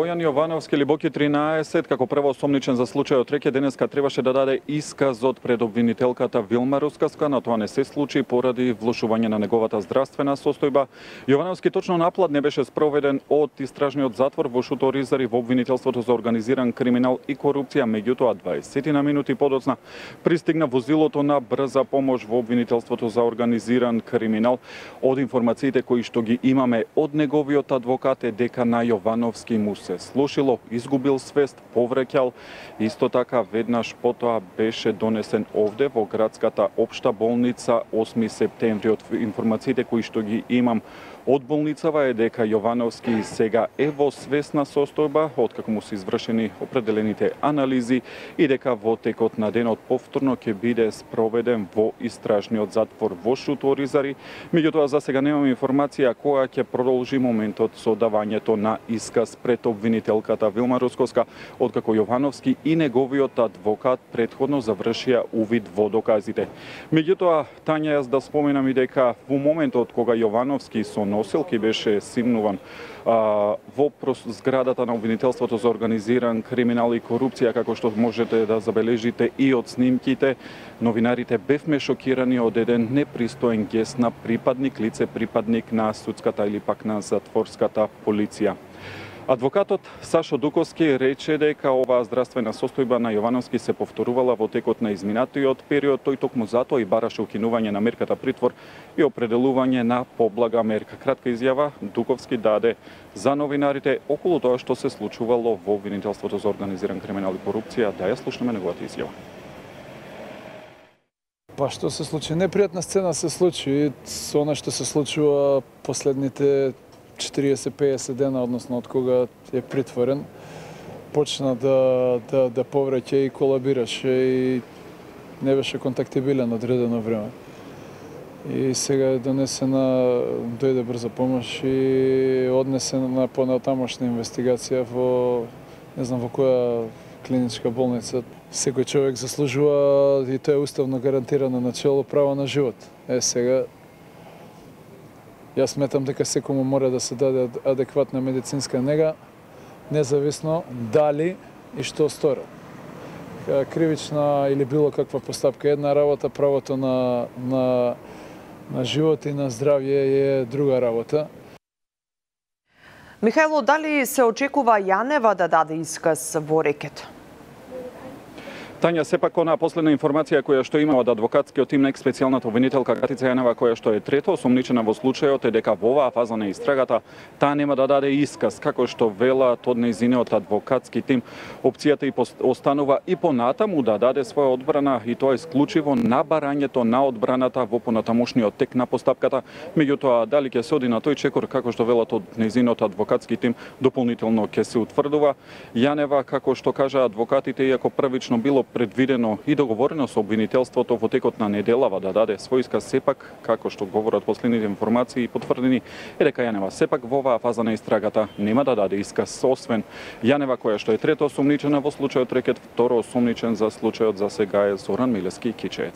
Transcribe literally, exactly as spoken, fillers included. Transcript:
Бојан Јовановски или Боки тринаесет, како прво осомничен за случајот Реке, денеска требаше да даде исказот пред обвинителката Вилма Рускаска, но тоа не се случи поради влошување на неговата здравствена состојба. Јовановски точно напад не беше спроведен од истражниот затвор во Шуторизари во обвинителството за организиран криминал и корупција, меѓутоа дваесет на минути подоцна пристигна возилото на брза помош во обвинителството за организиран криминал. Од информациите кои што ги имаме од неговиот адвокат е дека на Јовановски му се слушило, изгубил свест, повреќал. Исто така, веднаш потоа беше донесен овде во градската општа болница осми септември. Од информациите кои што ги имам од болницава е дека Јовановски сега е во свесна состојба, откако му се извршени определените анализи и дека во текот на денот повторно ќе биде спроведен во истражниот затвор во Шуторизари. Меѓутоа, за сега немам информација која ќе продолжи моментот со давањето на исказ пред обвинителката Вилма Рускоска, откако Јовановски и неговиот адвокат претходно завршија увид во доказите. Меѓутоа, Тања, јас да споменам и дека во моментот кога Јовановски со носилки беше симнуван а, во зградата на обвинителството за организиран криминал и корупција, како што можете да забележите и од снимките, новинарите бевме шокирани од еден непристоен гест на припадник, лице припадник на судската или пак на затворската полиција. Адвокатот Сашо Дуковски рече дека оваа здравствена состојба на Јовановски се повторувала во текот на изминатиот период, тој токму затоа и бараше укинување на мерката притвор и определување на поблага мерка. Кратка изјава Дуковски даде за новинарите околу тоа што се случувало во обвинителството за организиран криминал и корупција. Да ја слушнеме неговата изјава. Па што се случи? Непријатна сцена се случи со она што се случува последните четириесет пеесет дена, односно од кога е притворен, почна да, да, да повреќа и колабираше и не беше контактибилен одредено време. И сега е донесена, дојде брза помош и однесена на понатамошна инвестигација во, не знам во која клиничка болница. Секој човек заслужува, и тоа е уставно гарантирано начело, право на живот. Е, сега јас сметам дека секому мора да се даде адекватна медицинска нега, независно дали и што сторил. Кривична или било каква постапка една работа, правото на, на, на живот и на здравје е друга работа. Михајло, дали се очекува Јанева да даде исказ во Рекет? Тања, сепак онаа последна информација која што има од адвокатскиот тим на екс-специјалната обвинителка Катица Јанева, која што е трето осомничена во случајот, е дека во оваа фаза на истрагата таа нема да даде исказ, како што велат од нејзиниот адвокатски тим. Опцијата и останува и понатаму да даде своја одбрана, и тоа исклучиво на барањето на одбраната во понатамошниот тек на постапката. Меѓутоа, дали ќе се оди на тој чекор, како што велат од нејзиниот адвокатски тим, дополнително ќе се утврдува. Јанева, како што кажа адвокатите, иако првично било предвидено и договорено со обвинителството во текот на неделава да даде свој исказ, сепак, како што говорат последните информации потврдени, е дека Јанева сепак во оваа фаза на истрагата нема да даде исказ, освен Јанева, која што е трето осомничена во случајот Рекет, второ осомничен за случајот за сега е Зоран Милевски Кичеец.